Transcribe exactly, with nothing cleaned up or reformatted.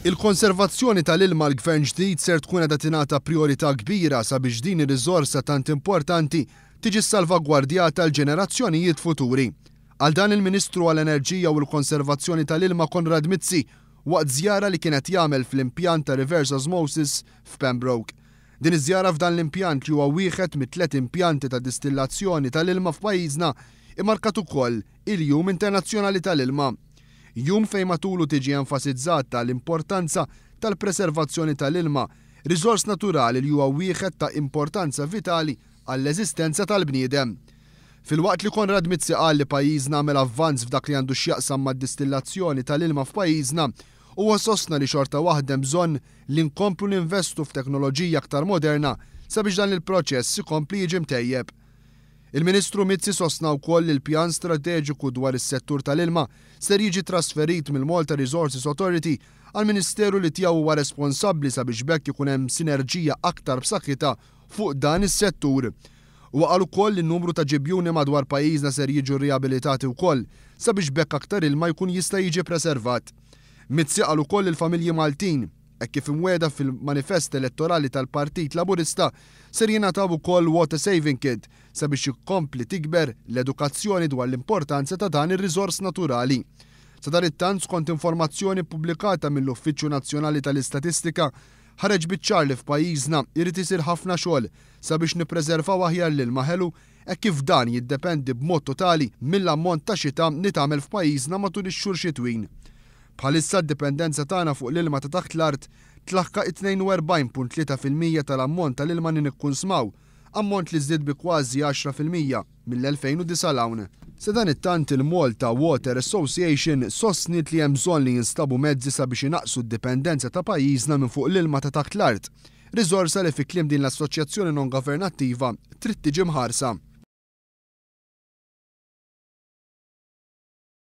Il-konservazzjoni tal-ilma l-gvern ġdid ser tkun qiegħda tingħata prijorità kbira sabiex din ir-riżorsa tant importanti tiġi salvagwardjata l-ġenerazzjonijiet futuri. Għal dan il-Ministru għall-Enerġija u l-Konservazzjoni tal-Ilma Konrad Mizzi waqt żjara li kienet jagħmel fl-impjant ta' reverse osmosis f'Pembroke. Din iż-żjara f'dan l-impjant, li huwa wieħed mit-tliet impjanti ta' distillazzjoni tal-ilma f'pajjiżna, immarkat ukoll il-Jum Internazzjonali tal-Ilma. Jum fejn matulu tiġi enfasizzata l-importanza tal-preservazzjoni tal-ilma, riżors naturali li huwa wieħed ta' importanza vitali għall-eżistenza tal-bniedem. Filwaqt li Konrad Mizzi qal li pajjiżna għamel avvanz f'dak li għandu x'jaqsam mad-distillazzjoni tal-ilma f'pajjiżna, huwa sostna li xorta waħda bżonn li nkomplu ninvestu f'teknoloġija aktar moderna sabiex dan il-proċess ikompli jiġi mtejjeb. Il-Ministru Mizzi sostna wkoll li l-pjan strateġiku dwar is-settur tal-ilma ser jiġi trasferit mill-Malta Resources Authority għal Ministeru li tiegħu huwa responsabbli sabiex b'hekk ikun hemm sinerġija aktar b'saħħitha fuq dan is-settur. U qal ukoll li n-numru ta' ġibjuni madwar pajjiżna ser jiġu riabilitati wkoll sabiex b'hekk aktar ilma jkun jista' jiġi preservat. Mizzi qal ukoll il-familji Maltin, hekk kif imwiegħda fil-manifest elettorali tal-Partit Laburista, ser jingħataw ukoll water saving kit sabiex jikkompli tikber l-edukazzjoni dwar l-importanza ta' dan ir-riżors naturali. Sadanittant, skont informazzjoni pubblikata mill-Uffiċċju Nazzjonali tal-Istatistika, ħareġ biċ-ċar li f'pajjiżna irid isir ħafna xogħol sabiex nippreservaw aħjar l-ilma ħelu, hekk kif dan jiddependi b'mod totali mill-ammont ta' xita li tagħmel f'pajjiżna matul ix-xhur xitwin. Bħalissa d-dipendenza tagħna fuq l-ilma ta' taħt l-art tlaħħaq tnejn u erbgħin punt tlieta fil-mija tal-ammont tal-ilma li nikkunsmaw, ammont li żdied bi kważi għaxra fil-mija mill-elfejn u disgħa 'l hawn. Sadanittant, il-Malta Water Association sostniet li hemm bżonn li jinstabu mezzi sabiex inaqsu d-dipendenza ta' pajjiżna minn fuq l-ilma ta' taħt l-art. Riżorsa li, fi kliem din l-assoċjazzjoni non governattiva, trid tiġi mħarsa.